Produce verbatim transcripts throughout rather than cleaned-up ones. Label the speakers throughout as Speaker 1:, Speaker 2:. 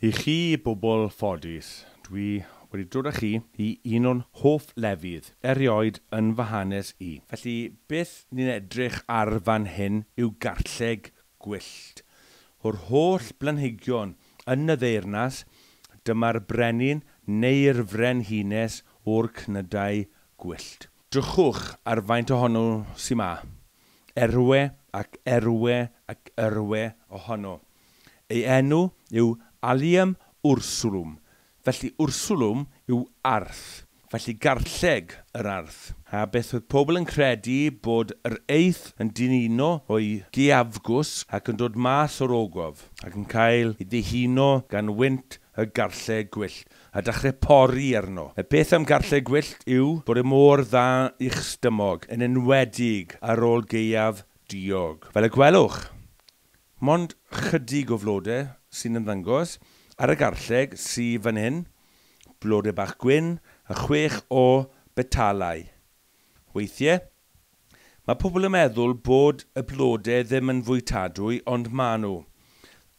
Speaker 1: I chi, bobl ffodus, dwi wedi dod â chi i un o'n hoff lefydd erioed yn fy hanes i. Felly, beth ni'n edrych ar fan hyn yw garlleg gwyllt. O'r holl blanhigion yn y ddeyrnas, dyma'r brenin neu'r frenhines o'r cnydau gwyllt. Drychwch ar faint ohono sy 'ma. Erwe ac erwe ac erwe ohono. Ei enw yw Allium ursulum. Felly ursulum yw arth. Felly garlleg yr arth. A beth oedd pobl yn credu bod yr eith yn dihuno o'i gaeafgwsg ac yn dod mas o'r ogof ac yn cael ei ddihuno gan wynt y garlleg gwyllt a dechrau pori arno. Y peth am garlleg gwyllt yw bod e mor dda i'ch stumog, yn enwedig ar ôl gaeaf diog. Fel y gwelwch, mond chydig o flodau sy'n ymddangos ar y garlleg sydd fan hyn, blodau bach gwyn a chwech o betalau. Weithiau, mae pobl yn meddwl bod y blodau ddim yn fwytadwy, ond maen nhw.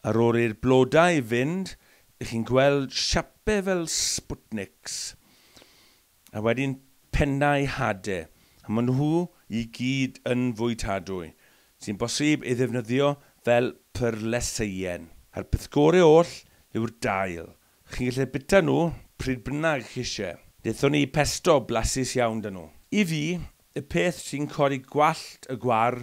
Speaker 1: Ar ôl i'r blodau fynd, ych chi'n gweld siapau fel Sputniks, a wedyn pennau hadau, a maen nhw i gyd yn fwytadwy, sy'n bosib ei ddefnyddio fel perleseien. A'r peth gorau oll yw'r dail. Chi'n gallu bita nhw pryd bynnag chi eisiau. Wnaethon ni pesto blasus iawn 'da nhw. I fi, y peth sy'n codi gwallt y gwar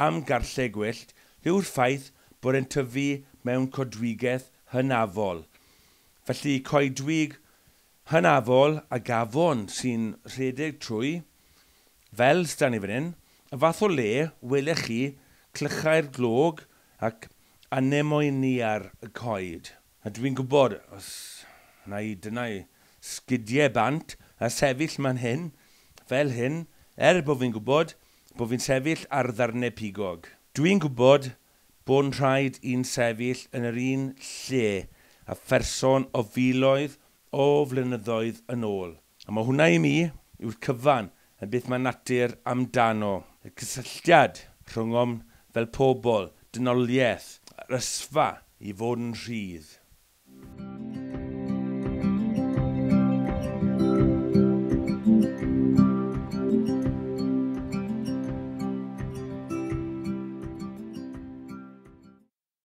Speaker 1: am garlleg gwyllt yw'r ffaith bod e'n tyfu mewn coedwigaeth hynafol. Felly coedwig hynafol ag afon sy'n rhedeg trwy, fel s'da ni fan hyn, y fath o le welech chi clychau'r glog ac anemonia y coed. A dwi'n gwybod, os na i dyna i sgidiau bant a sefyll man hyn, fel hyn, er bod fi'n gwybod bod fi'n sefyll ar ddarnau pigog. Dwi'n gwybod bod yn rhaid i'n sefyll yn yr un lle a pherson o filoedd o flynyddoedd yn ôl. A mae hwnna i mi yw'r cyfan yn beth mae natur amdano. Y cysylltiad rhwngom fel pobl, dynoliaeth, yr ysfa i fod yn rhydd.